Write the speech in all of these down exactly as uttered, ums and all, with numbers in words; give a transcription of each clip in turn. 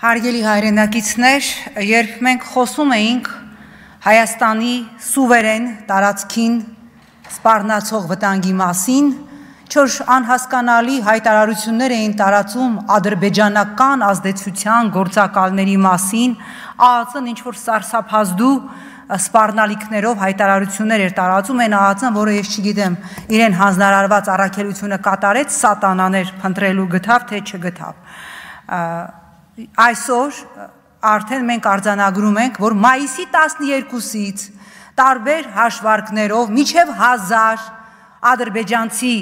Հարգելի հայրենակիցներ, երբ մենք խոսում էինք Հայաստանի սուվերեն տարածքին սպառնացող վտանգի մասին, չոր անհասկանալի հայտարարություններ էին տարածում ադրբեջանական ազդեցության գործակալների մասին, ԱԱԾ-ն ինչ-որ սարսափազդու սպառնալիքներով հայտարարություններ էր տարածում, այն ԱԱԾ-ն, որը ես չգիտեմ, իրեն հանձնարարված առաքելությունը կատարեց, սատանաներ փնտրելու գտավ, թե չգտավ։ Այսօր արդեն մենք արձանագրում ենք, որ մայիսի տասներկուսից տարբեր հաշվարկներով մինչև հազար ադրբեջանցի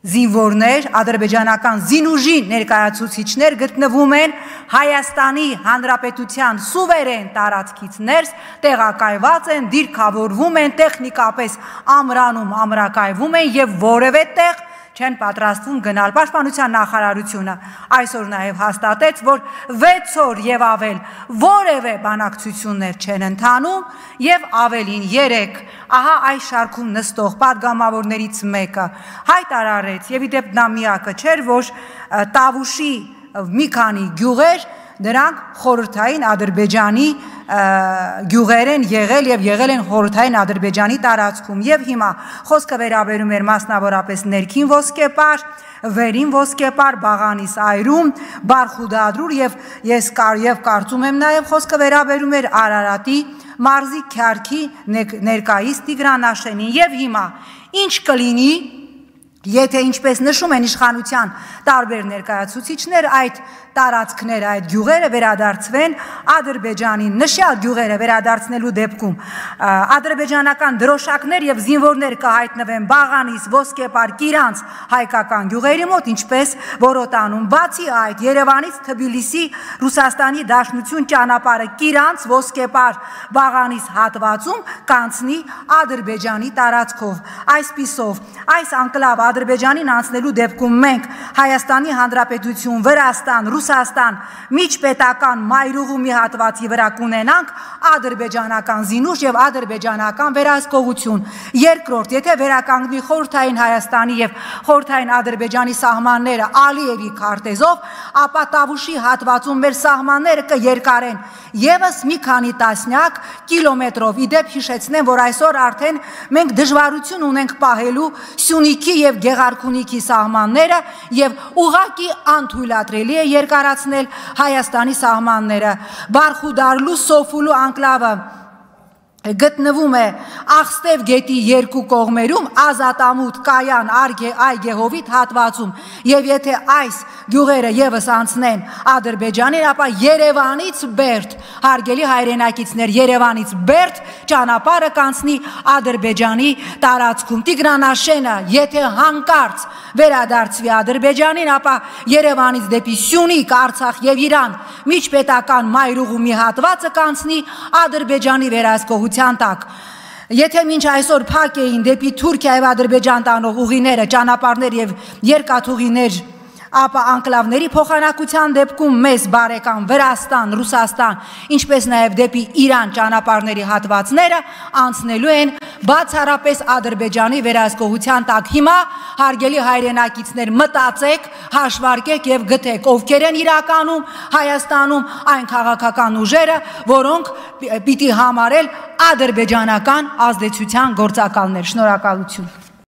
զինվորներ, ադրբեջանական զինուժի ներկայացուցիչներ գտնվում են Հայաստանի Հանրապետության սուվերեն տարածքից ներս, տեղակայված են, դիրքավորվում են, տեխնիկապես ամրանում, ամրակայվում են եւ որևէ տեղ չեն պատրաստվում գնալ։ Պաշտպանության նախարարությունը այսօր նաև հաստատեց, որ վեց օր եւ ավել որևէ բանակցություններ չեն ընթանում եւ ավելին երեք, ահա այս շարքում նստող падգամավորներից մեկը հայտարարեց եւ իդեպ նա միակը չէր, որ Տավուշի մի քանի գյուղեր դրանք խորհրդային Ադրբեջանի գյուղեր են եղել եւ եղել են խորհրդային Ադրբեջանի տարածքում եւ հիմա խոսքը վերաբերում էր մասնավորապես ներքին ոսկեպար, վերին ոսկեպար, Բաղանիս այրում, Բարխուդադրուր եւ ես կար եւ կարծում եմ նաեւ խոսքը վերաբերում էր Արարատի մարզի Քյարքի ներկայիս Տիգրանաշենին եւ հիմա ինչ կլինի, եթե ինչպես նշում են իշխանության տարբեր ներկայացուցիչներ, այդ տարածքները, այդ գյուղերը վերադարձվեն Ադրբեջանի, նշյալ գյուղերը վերադարձնելու դեպքում ադրբեջանական դրոշակներ եւ զինվորներ կհայտնվեն Բաղանիս, Ոսկեպար, Կիրանց հայկական գյուղերի մոտ, ինչպես Որոտանում։ Բացի այդ, Երևանից Թբիլիսի Ռուսաստանի Դաշնություն ճանապարհը Կիրանց, Ոսկեպար, Բաղանիս հատվածում կանցնի Ադրբեջանի տարածքով։ Այսպիսով, այս անկլավ Ադրբեջանին անցնելու դեպքում մենք Հայաստանի Հանրապետություն, Վրաստան, Ռուսաստան միջպետական մայրուղու մի հատվածի վրա կունենանք ադրբեջանական զինուժ եւ ադրբեջանական վերահսկողություն։ Երկրորդ, եթե վերականգնվի խորհրդային Հայաստանի եւ խորհրդային Ադրբեջանի սահմանները Ալիևի քարտեզով, ապա Տավուշի հատվածում մեր սահմանները կերկարեն եւս մի քանի տասնյակ կիլոմետրով։ Իդեպ հիշեցնեմ, որ այսօր արդեն մենք դժվարություն ունենք պահելու Սյունիքի եւ Գեղարքունիքի սահմանները եւ ուղղակի անթույլատրելի է երկարացնել Հայաստանի սահմանները։ Բարխուդարլու Սոֆուլու անկլավը գտնվում է Աղստև գետի երկու կողմերում, Ազատամուտ, Կայան, Այգեհովիտ հատվածում եւ եթե այս գյուղերը եւս անցնեն Ադրբեջանին, ապա Երևանից Բերդ, հարգելի հայրենակիցներ, Երևանից Բերդ ճանապարհը կանցնի Ադրբեջանի տարածքում։ Տիգրանաշենը, եթե հանկարծ վերադարձվի Ադրբեջանին, ապա Երևանից դեպի Սյունիք, Արցախ եւ Իրան միջպետական մայրուղու մի հատվածը կանցնի Ադրբեջանի վերահսկողության տակ։ Եթե մինչ այսօր փակ էին դեպի Թուրքիա եւ Ադրբեջան տանող ուղիները, ճանապարհներ եւ երկաթուղիներ, ապա անկլավների փոխանակության դեպքում մեզ բարեկամ Վրաստան, Ռուսաստան, ինչպես նաև դեպի Իրան ճանապարհների հատվածները անցնելու են բացառապես Ադրբեջանի վերահսկողության տակ։ Հիմա, հարգելի հայրենակիցներ, մտածեք, հաշվարկեք եւ գտեք, ովքեր են իրականում Հայաստանում այն քաղաքական ուժերը, որոնք պիտի համարել ադրբեջանական ազդեցության գործակալներ։ Շնորհակալություն։